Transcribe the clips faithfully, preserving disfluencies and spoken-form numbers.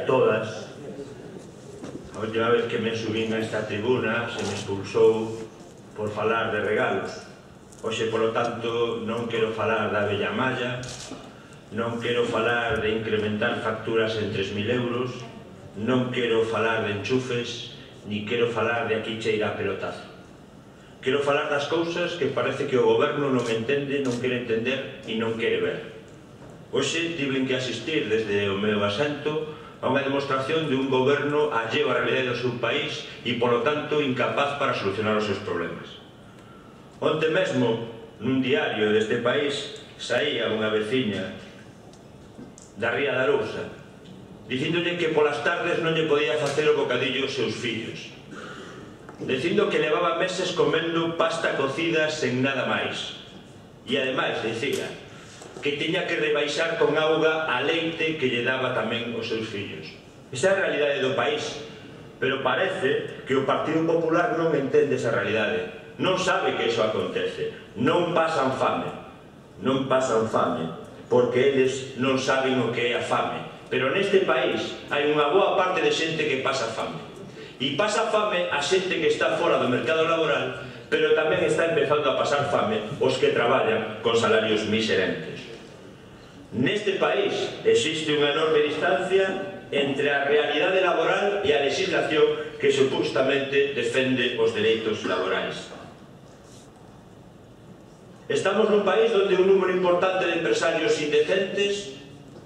a todas. A última vez que me subín a esta tribuna se me expulsou por falar de regalos. Hoxe, polo tanto, non quero falar da vella malla, non quero falar de incrementar facturas en tres mil euros, non quero falar de enchufes, ni quero falar de aquí cheira a pelotazo. Quero falar das cousas que parece que o goberno non entende, non quere entender e non quere ver. Hoxe tiven que asistir desde o meu asento a unha demostración de un goberno alleo á realidade do seu país e, polo tanto, incapaz para solucionar os seus problemas. Onte mesmo, nun diario deste país, saía unha veciña da Ría da Arousa dicíndolle que polas tardes non lle podía facer o bocadillo aos seus fillos, dicindo que levaba meses comendo pasta cocida sen nada máis e, ademais, dicía que tiña que rebaixar con auga a leite que lle daba tamén aos seus fillos. Esa é a realidade do país, pero parece que o Partido Popular non entende esa realidade, non sabe que iso acontece, non pasan fame, non pasan fame, porque eles non saben o que é a fame, pero neste país hai unha boa parte de xente que pasa fame, e pasa fame a xente que está fora do mercado laboral, pero tamén está empezando a pasar fame os que traballan con salarios miserentes. Neste país existe unha enorme distancia entre a realidade laboral e a legislación que supostamente defende os dereitos laborais. Estamos nun país onde un número importante de empresarios indecentes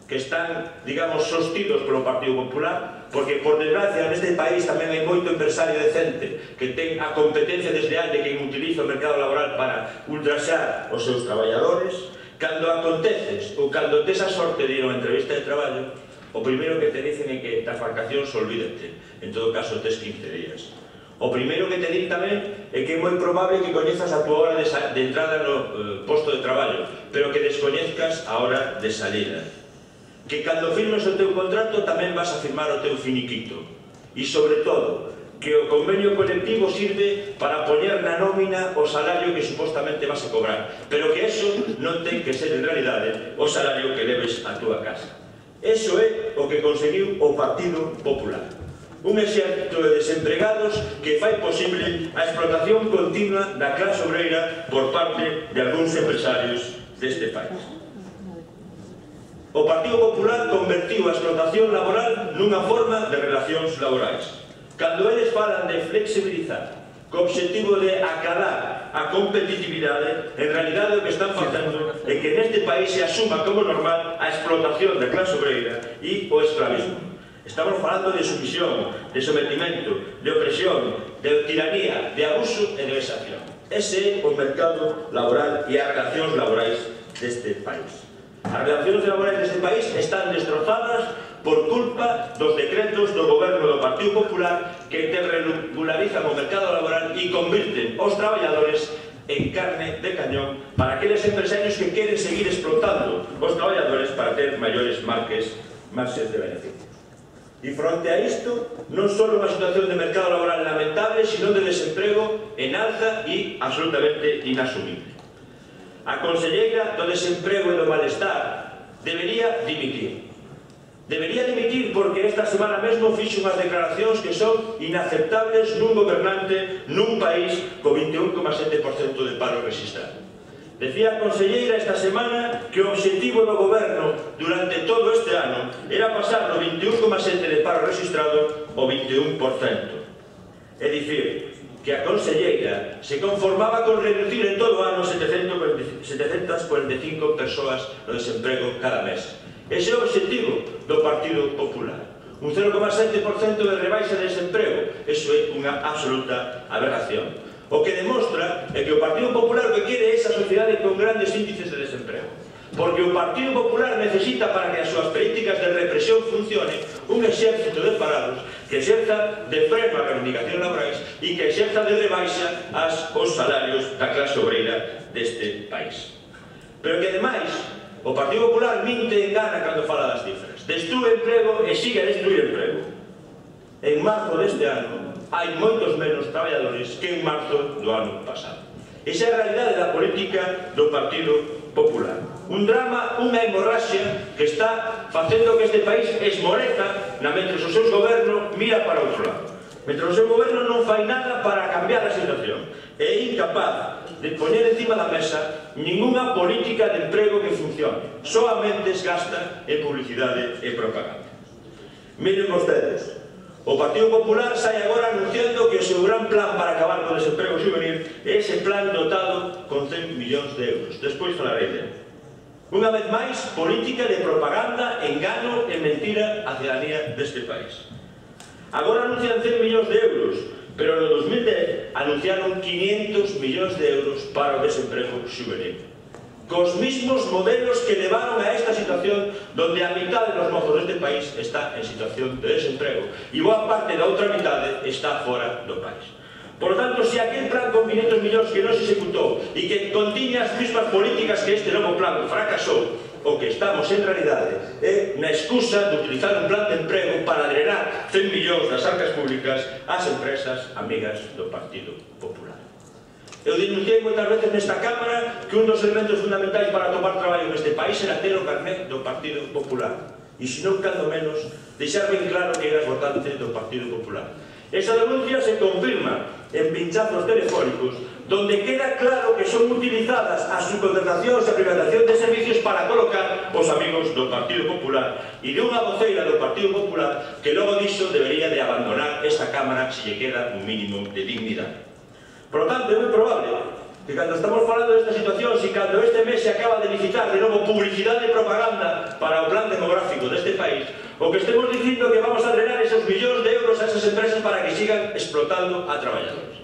que están, digamos, sostidos polo Partido Popular, porque, por desgracia, neste país tamén hai moito empresario decente que ten a competencia desleal de quen utiliza o mercado laboral para ultraxar os seus traballadores. Cando aconteces ou cando tes a sorte de ir a unha entrevista de traballo, o primeiro que te dicen é que das vacacións olvídate, en todo caso tes quince días. O primeiro que te din tamén é que é moi probable que coñezas a túa hora de, de entrada no eh, posto de traballo, pero que descoñezcas a hora de salida. Que cando firmes o teu contrato tamén vas a firmar o teu finiquito. E, sobre todo, que o convenio colectivo sirve para poñer na nómina o salario que supostamente vas a cobrar, pero que eso non ten que ser en realidade o salario que leves a túa casa. Eso é o que conseguiu o Partido Popular. Un exército de desempregados que fai posible a explotación continua da clase obreira por parte de algúns empresarios deste país. O Partido Popular convertiu a explotación laboral nunha forma de relacións laborais. Cando eles falan de flexibilizar co obxectivo de acadar a competitividade, en realidade o que están facendo é que neste país se asuma como normal a explotación da clase obreira e o esclavismo. Estamos falando de sumisión, de sometimento, de opresión, de tiranía, de abuso e de vexación. Ese é o mercado laboral e as relacións laborais deste país. As relacións laborais deste país están destrozadas por culpa dos decretos do goberno do Partido Popular que regularizan o mercado laboral e convirten os traballadores en carne de cañón para aqueles empresarios que queren seguir explotando os traballadores para ter maiores marques, marxes de beneficios. E fronte a isto, non só unha situación de mercado laboral lamentable, sino de desemprego en alza e absolutamente inasumible. A conselleira do desemprego e do malestar debería dimitir. Debería dimitir porque esta semana mesmo fixo unhas declaracións que son inaceptables nun gobernante nun país co vinte e un coma sete por cento de paro registrado. Decía a conselleira esta semana que o obxectivo do goberno durante todo este ano era pasar do vinte e un coma sete por cento de paro registrado ao vinte e un por cento. É dicir, que a conselleira se conformaba con reducir en todo o ano setecentas cuarenta e cinco persoas no desemprego cada mes. Ese é o obxectivo do Partido Popular. Un cero coma sete por cento de rebaixa de desemprego. Eso é unha absoluta aberración. O que demostra é que o Partido Popular o que quere é esa sociedade con grandes índices de desemprego. Porque o Partido Popular necesita para que as súas políticas de represión funcionen un exército de parados que exerza de freno a reivindicacións laborais e que exerza de rebaixa os salarios da clase obreira deste país. Pero que, ademais, o Partido Popular minte e engana cando fala das cifras. Destrúe emprego e sigue a destruir emprego. En marzo deste ano hai moitos menos traballadores que en marzo do ano pasado. Esa é a realidade da política do Partido Popular. Un drama, unha hemorraxia que está facendo que este país esmoreza na mentre o seu goberno mira para outro lado. Mentre o seu goberno non fai nada para cambiar a situación. É incapaz de poñer encima da mesa ninguna política de emprego que funcione. Solamente es gasta en publicidade e propaganda. Miren vostedes, o Partido Popular sai agora anunciando que o seu gran plan para acabar con o desemprego juvenil é ese plan dotado con cen millóns de euros. Despois falarei dele. Unha vez máis, política de propaganda, engano e mentira á cidadanía deste país. Agora anuncian cen millóns de euros, pero no dos mil dez anunciaron quinientos millóns de euros para o desemprego juvenil. Cos mismos modelos que levaron a esta situación donde a mitad de los mozos deste país está en situación de desemprego e boa parte da outra mitade está fora do país. Por lo tanto, se aquel plan con quinientos millóns que non se executou e que contiña as mismas políticas que este novo plan fracasou, o que estamos en realidade é na excusa de utilizar un plan de emprego para drenar cen millóns das arcas públicas ás empresas amigas do Partido Popular. Eu denunciei moitas veces nesta Cámara que un dos elementos fundamentais para tomar traballo neste país era ter o carnet do Partido Popular. E se non, cando menos, deixar ben claro que eras votante do Partido Popular. Esa denuncia se confirma en pinchazos telefónicos donde queda claro que son utilizadas as subcontratacións e a privatización de servicios para colocar os amigos do Partido Popular e de unha voceira do Partido Popular que logo diso debería de abandonar esta Cámara se lle queda un mínimo de dignidade. Por lo tanto, é moi probable que cando estamos falando desta situación, se cando este mes se acaba de licitar de novo publicidade e propaganda para o plan demográfico deste país, o que estemos dicindo que vamos a drenar esos millóns de euros a esas empresas para que sigan explotando a traballadores.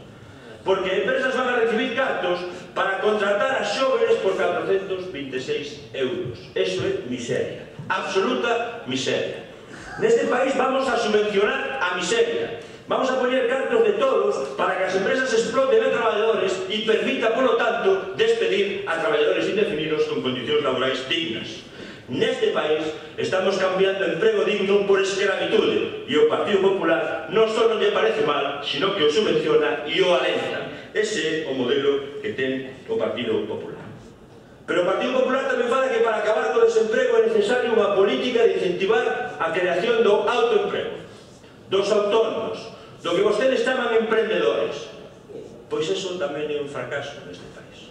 Porque empresas van a recibir cartos para contratar a xóvenes por catrocentos vinte e seis euros. Eso é miseria, absoluta miseria. Neste país vamos a subvencionar a miseria. Vamos a poñer cartos de todos para que as empresas exploten a traballadores e permita, polo tanto, despedir a traballadores indefinidos con condicións laborais dignas. Neste país estamos cambiando emprego digno por escravitude e o Partido Popular non só non lle parece mal, sino que o subvenciona e o alenta. Ese é o modelo que ten o Partido Popular. Pero o Partido Popular tamén fala que para acabar co desemprego é necesaria unha política de incentivar a creación do autoemprego, dos autónomos, do que vostedes chaman emprendedores. Pois eso tamén é un fracaso neste país.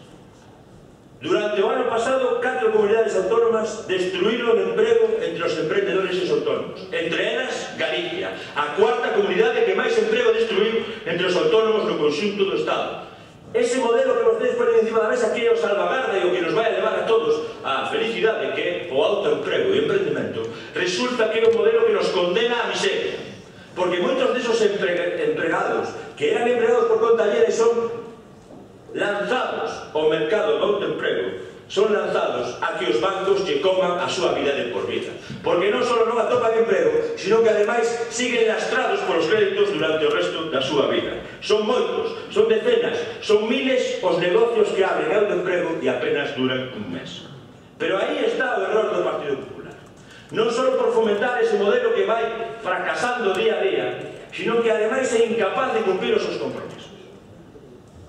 Durante o ano pasado, catro comunidades autónomas destruíron emprego entre os emprendedores e os autónomos. Entre elas, Galicia, a cuarta comunidade que máis emprego destruiu entre os autónomos no conxunto do Estado. Ese modelo que vostedes ponen encima da mesa que é o salvagarda e o que nos vai a levar a todos á felicidade, que é o autoemprego e o emprendimento, resulta que é un modelo que nos condena á miseria. Porque moitos desos empregados que eran empregados por conta allena e son lanzados ao mercado do autoemprego, son lanzados a que os bancos lle coman a súa vida de por vida. Porque non só non atopan emprego, sino que ademais siguen lastrados polos créditos durante o resto da súa vida. Son moitos, son decenas, son miles os negocios que abren autoemprego e apenas duran un mes. Pero aí está o error do Partido Popular. Non só por fomentar ese modelo que vai fracasando día a día, sino que ademais é incapaz de cumprir os seus compromisos.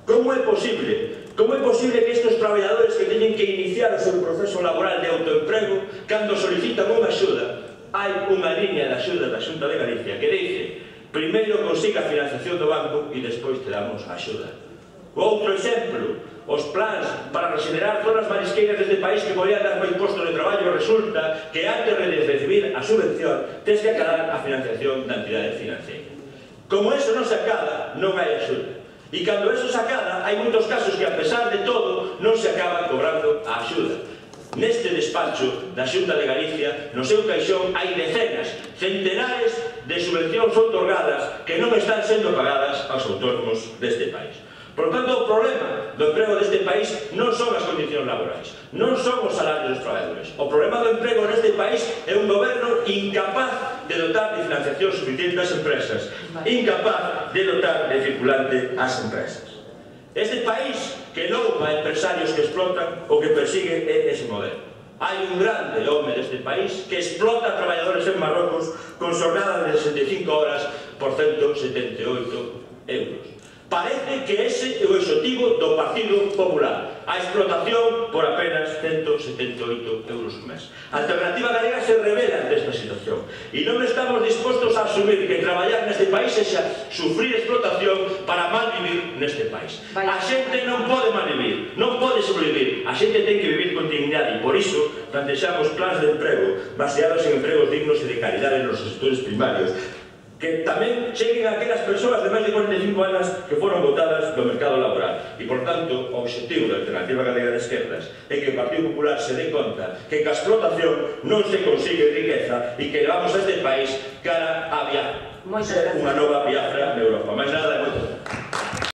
Como é posible? Como é posible que estes traballadores que teñen que iniciar o seu proceso laboral de autoemprego, cando solicitan unha axuda, hai unha liña de axuda da Xunta de Galicia que dice: primeiro consiga a financiación do banco e despois te damos a axuda. Outro exemplo, os plans para regenerar zonas marisqueiras deste país que podían dar máis postos de traballo, resulta que antes de recibir a subvención tens que acadar a financiación da entidade financiera. Como eso non se acada, non hai axuda. E cando eso se acada, hai moitos casos que, a pesar de todo, non se acaba cobrando a axuda. Neste despacho da Xunta de Galicia, no seu caixón, hai decenas, centenares de subvencións outorgadas que non están sendo pagadas aos autónomos deste país. Por tanto, o problema do emprego deste país non son as condicións laborais, non son os salarios dos traballadores. O problema do emprego neste país é un goberno incapaz de dotar de financiación suficiente ás empresas, incapaz de dotar de circulante ás empresas. Este país que loupa a empresarios que explotan o que persigue é ese modelo. Hai un grande home deste país que explota a traballadores en Marrocos con xornadas de sesenta e cinco horas por ciento setenta e oito euros. Parece que ese é o objetivo do Partido Popular, a explotación por apenas ciento setenta e oito euros por mes. A Alternativa Galega se revela ante esta situación e non estamos dispostos a asumir que traballar neste país é sufrir explotación para malvivir neste país. A xente non pode malvivir, non pode sobrevivir, a xente ten que vivir con dignidade e por iso plantexamos plans de emprego baseados en empregos dignos e de calidade nos sectores primarios, que tamén cheguen a aquelas persoas de máis de cuarenta e cinco anos que foron votadas do mercado laboral. E, por tanto, o objetivo da Alternativa Galega de Esquerdas é que o Partido Popular se dé conta que ca explotación non se consigue riqueza e que levamos a este país cara a Biafra. Unha nova Biafra na Europa. Mais nada, e moito.